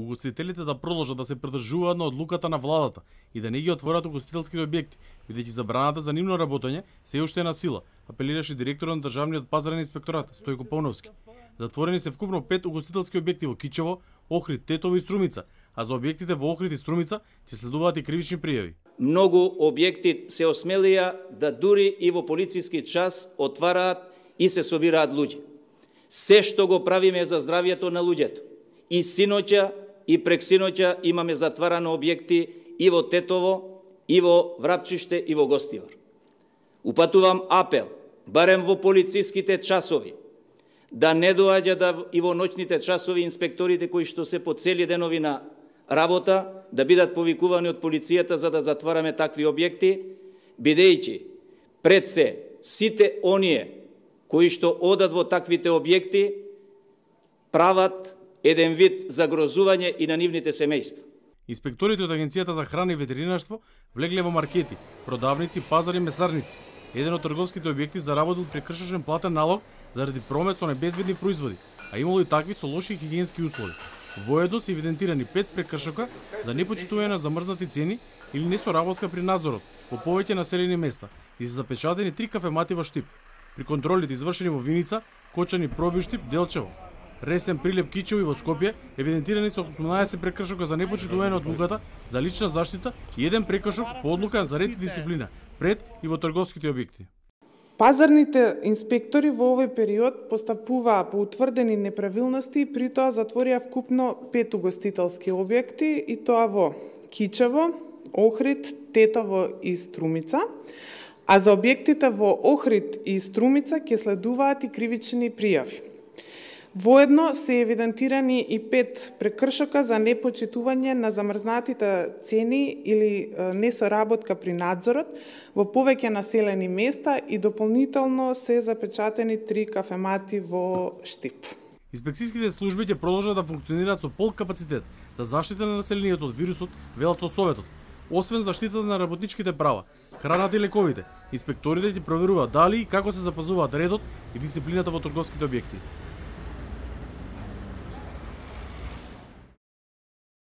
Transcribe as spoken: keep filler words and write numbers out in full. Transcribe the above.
угостителите да продолжат да се прдржуваат на одлуката на владата и да не ги отворат угостителските објекти, бидејќи забраната за нивно работење се уште е на сила, апелираше директорот на државниот пазарен инспекторат Стојко Пауновски. Затворени се вкупно пет угостителски објекти во Кичево, Охрид, Тетово и Струмица, а за објектите во Охрид и Струмица ќе следуваат и кривични пријави. Многу објекти се осмелија да дури и во полициски час отвараат и се собираат луѓе. Се што го правиме за здравјето на луѓето. И синоќа и прексиноќа имаме затварани објекти и во Тетово, и во Врапчиште, и во Гостивар. Упатувам апел, барем во полициските часови, да не доаѓа да и во ноќните часови инспекторите кои што се по цели денови на работа, да бидат повикувани од полицијата за да затвараме такви објекти, бидејќи пред се сите оние кои што одат во таквите објекти прават еден вид загрозување и на нивните семејства. Инспекторите од Агенцијата за храна и ветеринарство влегле во маркети, продавници, пазари и месарници. Еден од трговските објекти заработил прекршачен платен налог заради промет со небезбедни производи, а имало и такви со лоши хигиенски услови. Воедно се евидентирани пет прекршока за непочитување на замрзнати цени или несоработка при надзорот во повеќе населени места и се запечатени три кафемати во Штип. При контролите извршени во Виница, Кочани, Проби, Штип, Делчево, Ресен, Прилеп, Кичево и во Скопје евидентирани се осумнаесет прекршока за непочитување на одлуката за лична заштита и еден прекршок по одлука за ред и дисциплина пред и во трговските објекти. Пазарните инспектори во овој период постапуваа по утврдени неправилности и при тоа затворија вкупно пет угостителски објекти и тоа во Кичево, Охрид, Тетово и Струмица, а за објектите во Охрид и Струмица ќе следуваат и кривични пријави. Воедно се евидентирани и пет прекршока за непочитување на замрзнатите цени или несоработка при надзорот во повеќе населени места и дополнително се запечатени три кафемати во Штип. Инспекцијските служби ќе продолжат да функционираат со пол капацитет за заштита на населението од вирусот, велат од Советот. Освен заштитата на работничките права, храната и лековите, инспекторите ќе проверуваат дали и како се запазуваат редот и дисциплината во трговските објекти.